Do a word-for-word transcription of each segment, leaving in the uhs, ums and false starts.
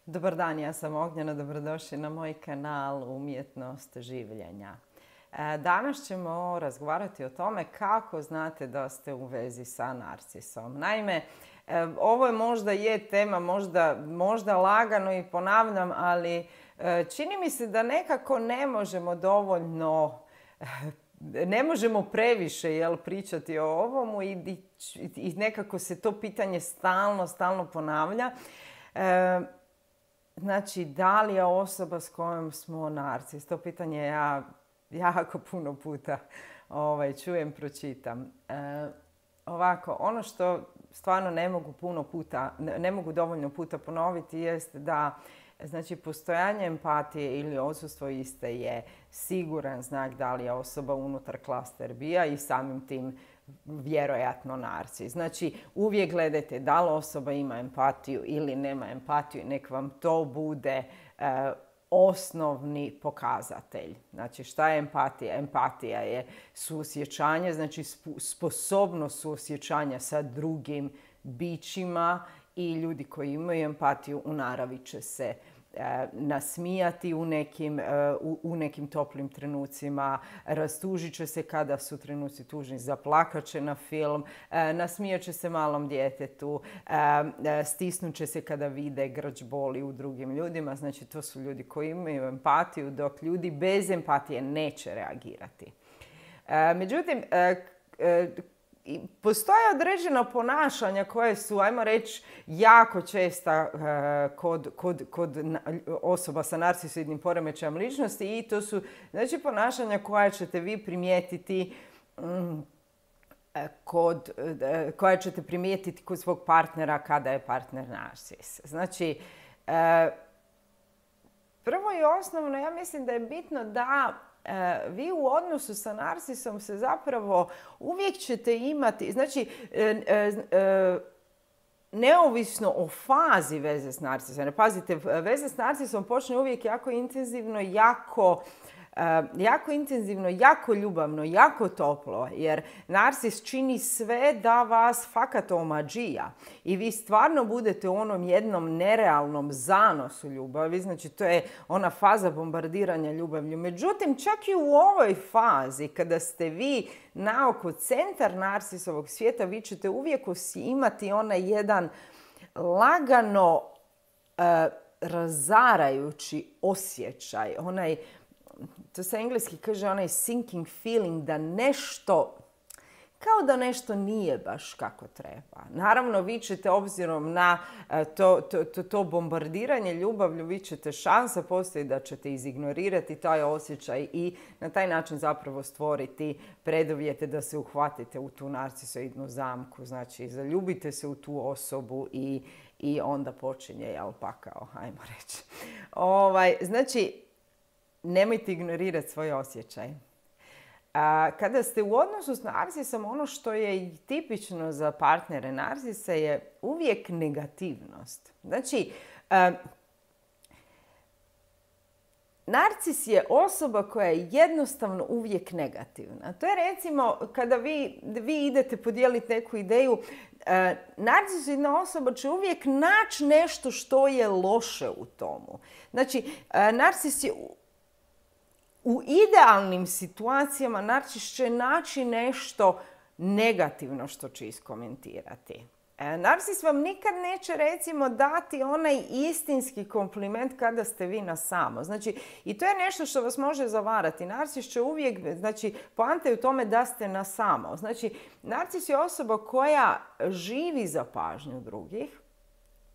Dobar dan, ja sam Ognjena, dobrodošli na moj kanal Umjetnost življenja. Danas ćemo razgovarati o tome kako znate da ste u vezi sa narcisom. Naime, ovo je možda je tema, možda, možda lagano i ponavljam, ali čini mi se da nekako ne možemo dovoljno, ne možemo previše jel, pričati o ovomu i, i nekako se to pitanje stalno, stalno ponavlja. E, Znači, da li je osoba s kojom smo narcis? To pitanje ja jako puno puta ovaj, čujem, pročitam. E, ovako, ono što stvarno ne mogu puno puta, ne mogu dovoljno puta ponoviti jest da znači, postojanje empatije ili odsustvo iste je siguran znak da li je osoba unutar klaster B-a i samim tim vjerojatno narcis. Znači, uvijek gledajte da li osoba ima empatiju ili nema empatiju. Nek vam to bude e, osnovni pokazatelj. Znači, šta je empatija? Empatija je suosjećanje, znači sposobnost suosjećanja sa drugim bićima i ljudi koji imaju empatiju u naravi će se nasmijati u nekim, u, u nekim toplim trenucima, rastužit će se kada su trenuci tužni, zaplakat će na film, nasmijat će se malom djetetu, stisnut će se kada vide grč boli u drugim ljudima. Znači, to su ljudi koji imaju empatiju, dok ljudi bez empatije neće reagirati. Međutim, I postoje određena ponašanja koje su, ajmo reći, jako česta uh, kod, kod, kod osoba sa narcisoidnim poremećajem ličnosti i to su znači, ponašanja koja ćete vi primijetiti um, kod, uh, koja ćete primijetiti kod svog partnera kada je partner narcis. Znači, uh, prvo i osnovno, ja mislim da je bitno da vi u odnosu sa narcisom se zapravo uvijek ćete imati, znači neovisno o fazi veze s narcisom. Pazite, veza s narcisom počne uvijek jako intenzivno, jako jako intenzivno, jako ljubavno, jako toplo, jer narcis čini sve da vas fakat omađija i vi stvarno budete u onom jednom nerealnom zanosu ljubavi, znači to je ona faza bombardiranja ljubavlju. Međutim, čak i u ovoj fazi, kada ste vi naoko centar narcisovog svijeta, vi ćete uvijek imati onaj jedan lagano uh, razarajući osjećaj, onaj to se engleski kaže onaj sinking feeling da nešto, kao da nešto nije baš kako treba. Naravno, vi ćete obzirom na to, to, to, to bombardiranje ljubavlju, vi ćete šansa postoji da ćete izignorirati taj osjećaj i na taj način zapravo stvoriti preduvjete da se uhvatite u tu narcisoidnu zamku. Znači, zaljubite se u tu osobu i, i onda počinje jel pakao, ajmo reći. Ovaj, znači, nemojte ignorirati svoj osjećaj. A, kada ste u odnosu s narcisom, ono što je tipično za partnere narcisa je uvijek negativnost. Znači, a, narcis je osoba koja je jednostavno uvijek negativna. To je recimo kada vi, vi idete podijeliti neku ideju, a, narcisoidna osoba će uvijek naći nešto što je loše u tomu. Znači, a, narcis je u idealnim situacijama narcis će naći nešto negativno što će iskomentirati. E, narcis vam nikad neće recimo dati onaj istinski kompliment kada ste vi na samo. Znači, i to je nešto što vas može zavarati. Narcis će uvijek, znači, poanta je u tome da ste na samo. Znači, narcis je osoba koja živi za pažnju drugih.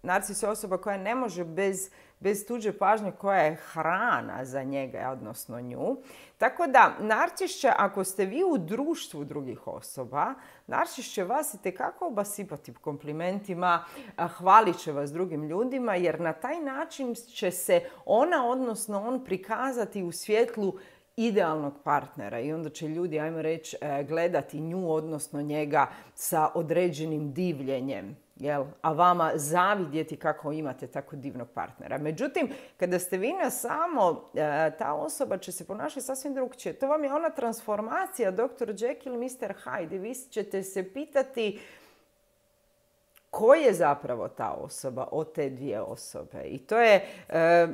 Narcis je osoba koja ne može bez, bez tuđe pažnje, koja je hrana za njega, odnosno nju. Tako da, narcis će, ako ste vi u društvu drugih osoba, narcis će vas itekako obasipati komplimentima, hvalit će vas drugim ljudima, jer na taj način će se ona, odnosno on, prikazati u svjetlu idealnog partnera i onda će ljudi, ajmo reći, gledati nju, odnosno njega sa određenim divljenjem. Jel? A vama zavidjeti kako imate tako divnog partnera. Međutim, kada ste vi na samo, ta osoba će se ponašati sasvim drugčije. To vam je ona transformacija doktor Jekyll, mister Hyde. Vi ćete se pitati ko je zapravo ta osoba od te dvije osobe. I to je... E,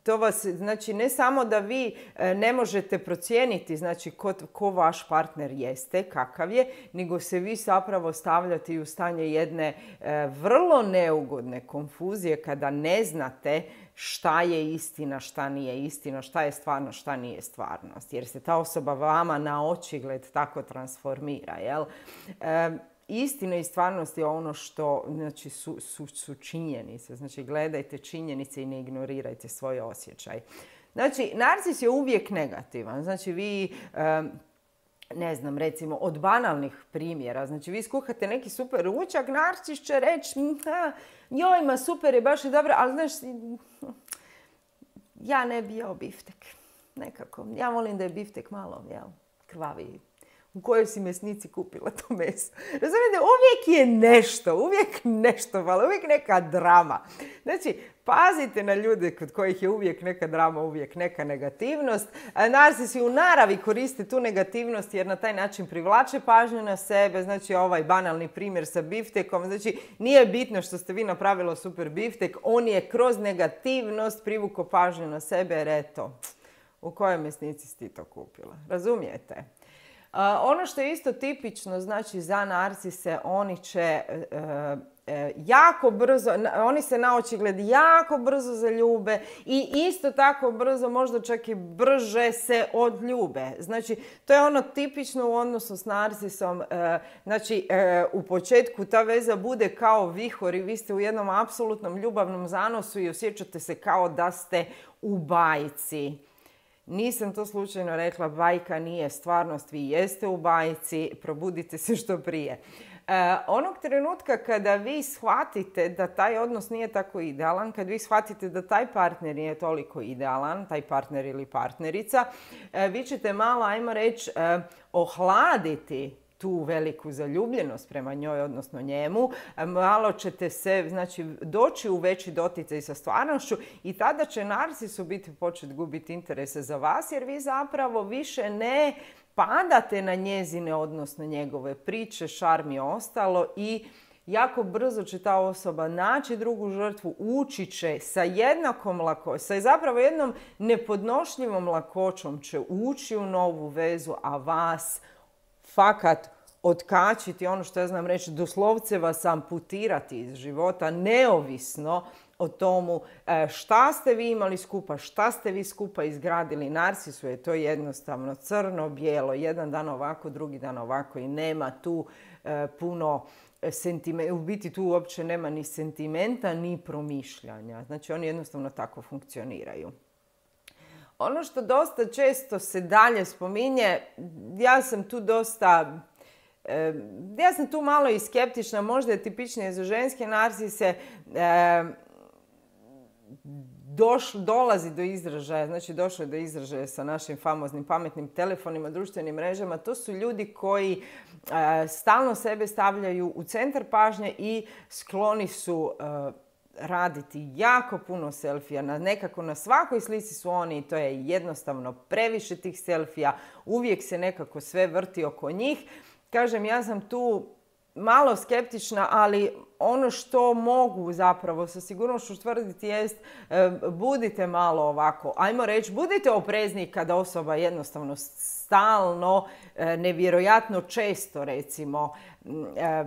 To vas, znači, ne samo da vi ne možete procijeniti, znači, ko, ko vaš partner jeste, kakav je, nego se vi zapravo stavljate u stanje jedne e, vrlo neugodne konfuzije kada ne znate šta je istina, šta nije istina, šta je stvarno, šta nije stvarnost. Jer se ta osoba vama na očigled tako transformira, jel? E, Istina i stvarnost je ono što, znači, su, su, su činjenice. Znači, gledajte činjenice i ne ignorirajte svoj osjećaj. Znači, narcis je uvijek negativan. Znači, vi, ne znam, recimo, od banalnih primjera. Znači, vi skuhate neki super ručak, narcis će reći, joj, ma super je, baš je dobro, ali znaš, ja ne bi jeo biftek. Nekako. Ja volim da je biftek malo, jel, krvaviji. U kojoj si mesnici kupila to meso. Razumijete, uvijek je nešto, uvijek nešto malo, uvijek neka drama. Znači, pazite na ljude kod kojih je uvijek neka drama, uvijek neka negativnost. Narcisi u naravi koriste tu negativnost jer na taj način privlače pažnju na sebe. Znači, ovaj banalni primjer sa biftekom. Znači, nije bitno što ste vi napravili super biftek, on je kroz negativnost privukao pažnju na sebe jer eto, u kojoj mesnici si ti to kupila. Razumijete? Uh, ono što je isto tipično, znači, za narcise, oni će uh, uh, jako brzo, oni se na očigled jako brzo zaljube i isto tako brzo, možda čak i brže se odljube. Znači, to je ono tipično u odnosu s narcisom. Uh, znači, uh, u početku ta veza bude kao vihor i vi ste u jednom apsolutnom ljubavnom zanosu i osjećate se kao da ste u bajci. Nisam to slučajno rekla, bajka nije stvarnost, vi jeste u bajci, probudite se što prije. E, onog trenutka kada vi shvatite da taj odnos nije tako idealan, kad vi shvatite da taj partner nije toliko idealan, taj partner ili partnerica, e, vi ćete malo, ajmo reći, e, ohladiti tu veliku zaljubljenost prema njoj, odnosno njemu. Malo ćete se, znači, doći u veći doticaj sa stvarnošću i tada će narcis u biti početi gubiti interese za vas jer vi zapravo više ne padate na njezine, odnosno njegove priče, šarm i ostalo i jako brzo će ta osoba naći drugu žrtvu, ući će sa jednakom lakoćom, sa zapravo jednom nepodnošljivom lakoćom će ući u novu vezu, a vas fakat otkačiti, ono što ja znam reći, doslovce vas amputirati iz života, neovisno o tomu šta ste vi imali skupa, šta ste vi skupa izgradili. Narcisu je to jednostavno crno-bijelo, jedan dan ovako, drugi dan ovako i nema tu e, puno sentimenta, u biti tu uopće nema ni sentimenta, ni promišljanja. Znači oni jednostavno tako funkcioniraju. Ono što dosta često se dalje spominje, ja sam tu dosta, e, ja sam tu malo i skeptična, možda je tipičnije za ženske narcise, e, doš, dolazi do izražaja, znači došlo je do izražaja sa našim famoznim pametnim telefonima, društvenim mrežama. To su ljudi koji e, stalno sebe stavljaju u centar pažnje i skloni su e, raditi jako puno selfija. Na, nekako na svakoj slici su oni i to je jednostavno previše tih selfija. Uvijek se nekako sve vrti oko njih. Kažem, ja sam tu malo skeptična, ali ono što mogu zapravo sa sigurnošću tvrditi jest e, budite malo ovako, ajmo reći, budite oprezni kada osoba jednostavno stalno, e, nevjerojatno često recimo, e,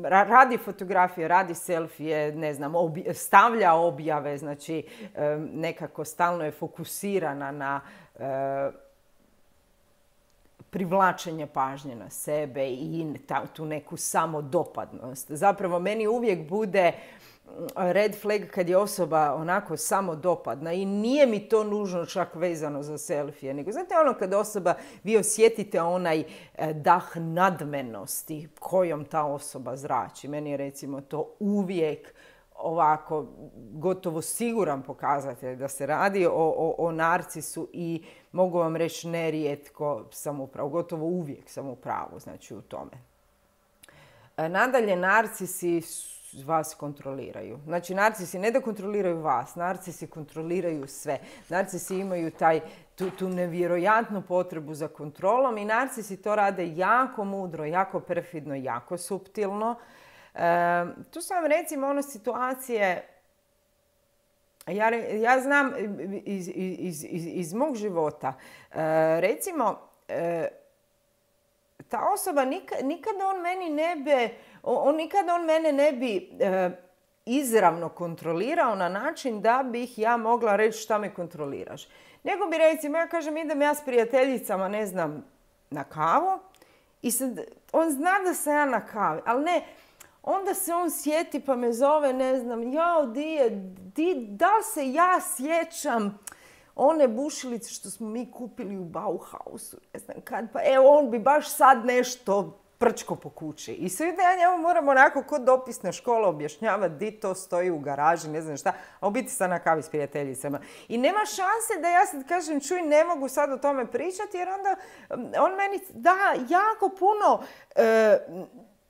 radi fotografije, radi selfije, ne znam, obje, stavlja objave, znači e, nekako stalno je fokusirana na e, privlačenje pažnje na sebe i tu neku samodopadnost. Zapravo meni uvijek bude red flag kad je osoba onako samodopadna i nije mi to nužno čak vezano za selfije, nego znate ono kad osoba, vi osjetite onaj dah nadmenosti kojom ta osoba zrači. Meni je recimo to uvijek ovako gotovo siguran pokazatelj da se radi o, o, o narcisu i mogu vam reći nerijetko sam u pravu, gotovo uvijek sam u pravu, znači u tome. Nadalje, narcisi vas kontroliraju. Znači, narcisi ne da kontroliraju vas, narcisi kontroliraju sve. Narcisi imaju taj, tu, tu nevjerojatnu potrebu za kontrolom i narcisi to rade jako mudro, jako perfidno, jako suptilno. Tu su vam recimo ono situacije, ja, ja znam iz, iz, iz, iz mog života, recimo, ta osoba nikad, nikad on meni ne bi, on, nikad on mene ne bi izravno kontrolirao na način da bih ja mogla reći šta me kontroliraš. Nego bi recimo, ja kažem, idem ja s prijateljicama, ne znam, na kavu i sad, on zna da sam ja na kavi, ali ne, onda se on sjeti pa me zove, ne znam, jao, di je, di, da li se ja sjećam one bušilice što smo mi kupili u Bauhausu, ne znam kad, pa evo, on bi baš sad nešto prčko po kući. I sve da ja njemu moram onako kod dopisna škola objašnjavati di to stoji u garaži, ne znam šta, a u biti sam na kavi s prijateljicama. I nema šanse da ja sad kažem, čuj, ne mogu sad o tome pričati, jer onda on meni da jako puno e,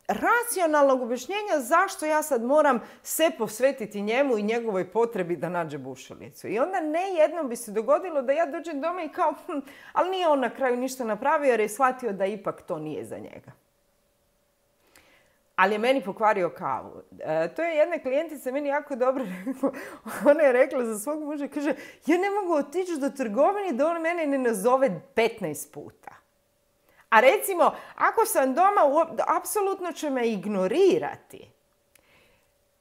racionalnog objašnjenja zašto ja sad moram se posvetiti njemu i njegovoj potrebi da nađe bušilicu. I onda ne jednom bi se dogodilo da ja dođem doma i kao, hm, ali nije on na kraju ništa napravio jer je shvatio da ipak to nije za njega. Ali je meni pokvario kavu. E, to je jedna klijentica meni jako dobro rekla. Ona je rekla za svog muža, kaže, ja ne mogu otići do trgovine da on mene ne nazove petnaest puta. A recimo, ako sam doma, apsolutno će me ignorirati.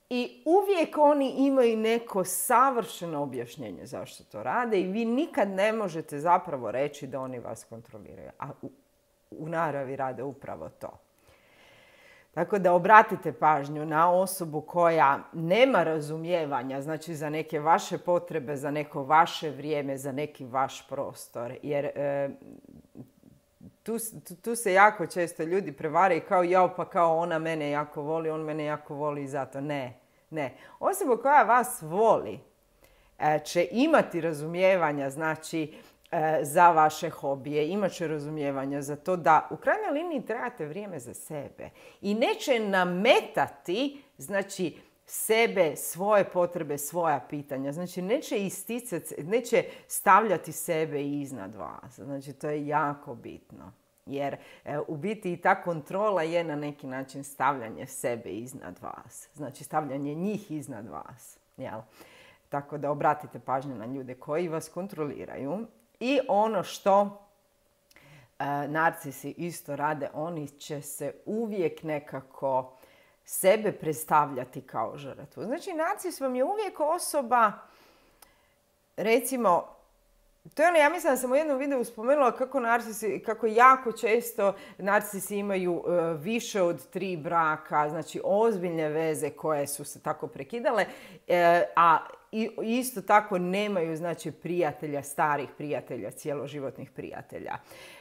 I uvijek oni imaju neko savršeno objašnjenje zašto to rade i vi nikad ne možete zapravo reći da oni vas kontroliraju. A u, u naravi rade upravo to. Tako da obratite pažnju na osobu koja nema razumijevanja, znači za neke vaše potrebe, za neko vaše vrijeme, za neki vaš prostor. Jer e, tu, tu se jako često ljudi prevaraju kao jao, pa kao ona mene jako voli, on mene jako voli i zato. Ne, ne. Osoba koja vas voli e, će imati razumijevanja, znači za vaše hobije, imat će razumijevanja za to da u krajnjoj liniji trebate vrijeme za sebe i neće nametati, znači, sebe, svoje potrebe, svoja pitanja. Znači, neće isticati, neće stavljati sebe iznad vas. Znači, to je jako bitno. Jer e, u biti i ta kontrola je na neki način stavljanje sebe iznad vas. Znači, stavljanje njih iznad vas. Jel? Tako da obratite pažnju na ljude koji vas kontroliraju. I ono što e, narcisi isto rade, oni će se uvijek nekako sebe predstavljati kao žrtvu. Znači, narcis vam je uvijek osoba, recimo, to je ono, ja mislim da sam u jednom videu spomenula kako narcisi, kako jako često narcisi imaju uh, više od tri braka, znači ozbiljne veze koje su se tako prekidale, uh, a i, isto tako nemaju, znači, prijatelja, starih prijatelja, cjeloživotnih prijatelja.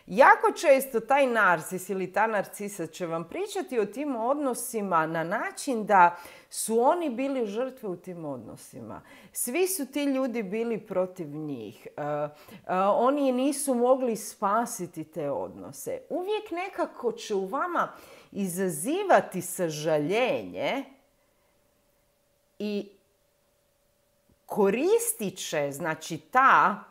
Jako često taj narcis ili ta narcisa će vam pričati o tim odnosima na način da su oni bili žrtve u tim odnosima. Svi su ti ljudi bili protiv njih. Uh, uh, oni nisu mogli spasiti te odnose. Uvijek nekako će u vama izazivati sažaljenje i koristit će, znači, ta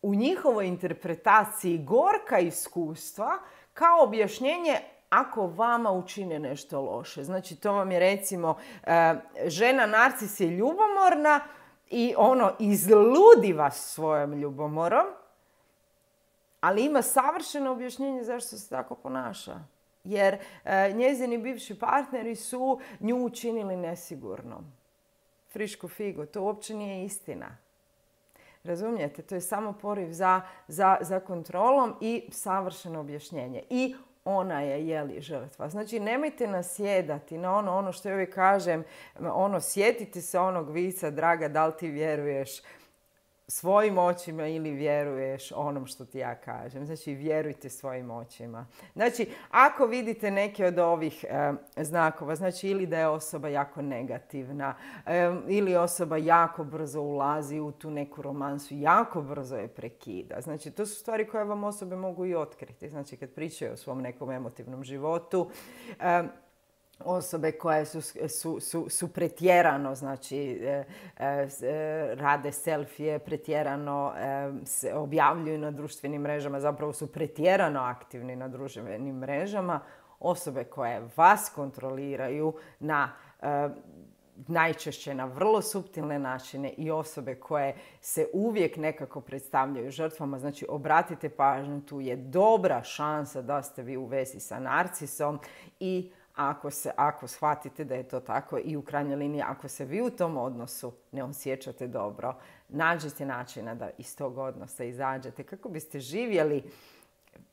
u njihovoj interpretaciji gorka iskustva kao objašnjenje ako vama učine nešto loše. Znači, to vam je recimo žena narcis je ljubomorna i ono izludi vas svojom ljubomorom, ali ima savršeno objašnjenje zašto se tako ponaša. Jer njezini bivši partneri su nju učinili nesigurnom. Friško figo, to uopće nije istina. Razumijete? To je samo poriv za, za, za kontrolom i savršeno objašnjenje. I ona je, jeli, žrtva. Znači, nemojte nasjedati na ono, ono što ja uvijek kažem, ono, sjetite se onog vica, draga, da li ti vjeruješ svojim očima ili vjeruješ onom što ti ja kažem. Znači, vjerujte svojim očima. Znači, ako vidite neke od ovih e, znakova, znači ili da je osoba jako negativna, e, ili osoba jako brzo ulazi u tu neku romansu, jako brzo je prekida. Znači, to su stvari koje vam osobe mogu i otkriti. Znači, kad pričaju o svom nekom emotivnom životu, e, osobe koje su, su, su, su pretjerano, znači e, e, rade selfije, pretjerano e, se objavljuju na društvenim mrežama, zapravo su pretjerano aktivni na društvenim mrežama, osobe koje vas kontroliraju na e, najčešće na vrlo suptilne načine i osobe koje se uvijek nekako predstavljaju žrtvama. Znači, obratite pažnju, tu je dobra šansa da ste vi u vezi sa narcisom i ako, se, ako shvatite da je to tako i u krajnjoj liniji, ako se vi u tom odnosu ne osjećate dobro, nađite načina da iz tog odnosa izađete kako biste živjeli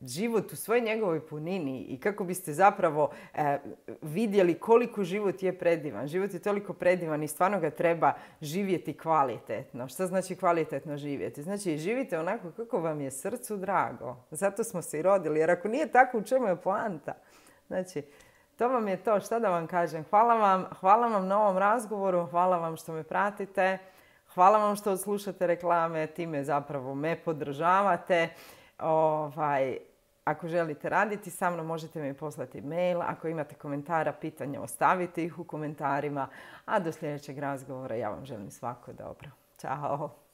život u svojoj njegovoj punini i kako biste zapravo e, vidjeli koliko život je predivan. Život je toliko predivan i stvarno ga treba živjeti kvalitetno. Što znači kvalitetno živjeti? Znači živite onako kako vam je srcu drago. Zato smo se i rodili. Jer ako nije tako, u čemu je poanta? Znači, to vam je to. Šta da vam kažem? Hvala vam, hvala vam na ovom razgovoru. Hvala vam što me pratite. Hvala vam što odslušate reklame. Time zapravo me podržavate. Ovaj, ako želite raditi sa mnom, možete mi poslati mail. Ako imate komentara, pitanja, ostavite ih u komentarima. A do sljedećeg razgovora ja vam želim svako dobro. Ćao!